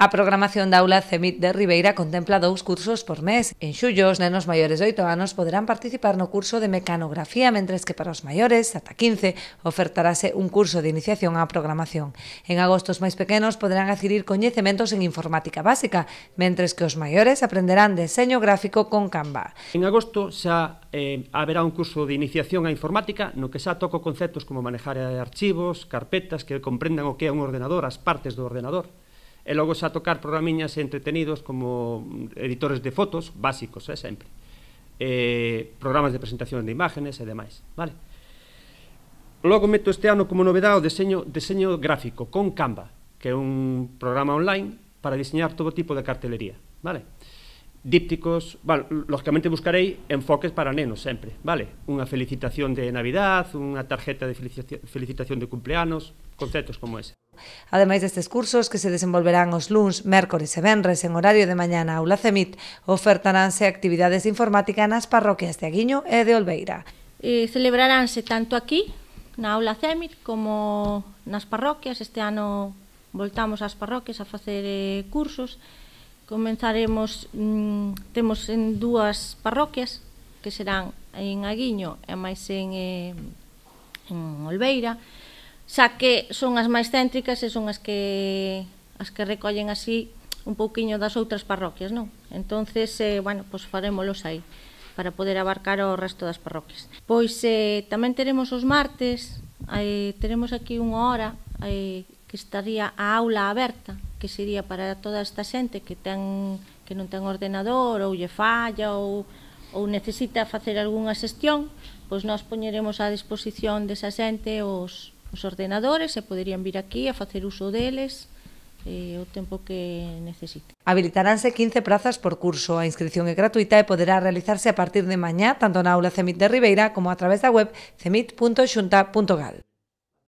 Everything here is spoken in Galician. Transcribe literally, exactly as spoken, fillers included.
A programación da aula CEMIT de Ribeira contempla dous cursos por mes. En xullo, os nenos maiores de oito anos poderán participar no curso de mecanografía, mentres que para os maiores, ata quince, ofertarase un curso de iniciación á programación. En agosto, os máis pequenos poderán adquirir coñecementos en informática básica, mentres que os maiores aprenderán deseño gráfico con Canva. En agosto xa eh, haberá un curso de iniciación á informática no que xa toco conceptos como manejar archivos, carpetas, que comprendan o que é un ordenador, as partes do ordenador. E logo xa tocar programiñas entretenidos como editores de fotos, básicos, eh, sempre. Eh, programas de presentación de imágenes e demais, vale? Logo meto este ano como novedade o deseño, deseño gráfico con Canva, que é un programa online para diseñar todo tipo de cartelería, vale? Dípticos, vale, lógicamente buscarei enfoques para nenos sempre, vale? Unha felicitación de Navidad, unha tarjeta de felicitación de cumpleanos, conceptos como ese. Ademais destes cursos, que se desenvolverán os luns, mércores e venres en horario de mañá na aula CEMIT, ofertaránse actividades de informática nas parroquias de Aguiño e de Olveira. Eh, celebraránse tanto aquí, na aula CEMIT, como nas parroquias. Este ano voltamos ás parroquias a facer eh, cursos. Comenzaremos, mmm, temos en dúas parroquias, que serán en Aguiño e máis en, eh, en Olveira, xa que son as máis céntricas e son as que as que recollen así un pouquiño das outras parroquias, non? Entonces, eh, bueno, pois farémolos aí para poder abarcar o resto das parroquias. Pois eh, tamén teremos os martes, eh, teremos aquí unha hora eh, que estaría a aula aberta, que sería para toda esta xente que ten que non ten ordenador ou lle falla ou, ou necesita facer algunha xestión, pois nós poñeremos á disposición desa xente os os ordenadores e poderían vir aquí a facer uso deles eh, o tempo que necesite. Habilitaránse quince prazas por curso. A inscripción é gratuita e poderá realizarse a partir de mañá tanto na aula CEMIT de Ribeira como a través da web cemit punto xunta punto gal.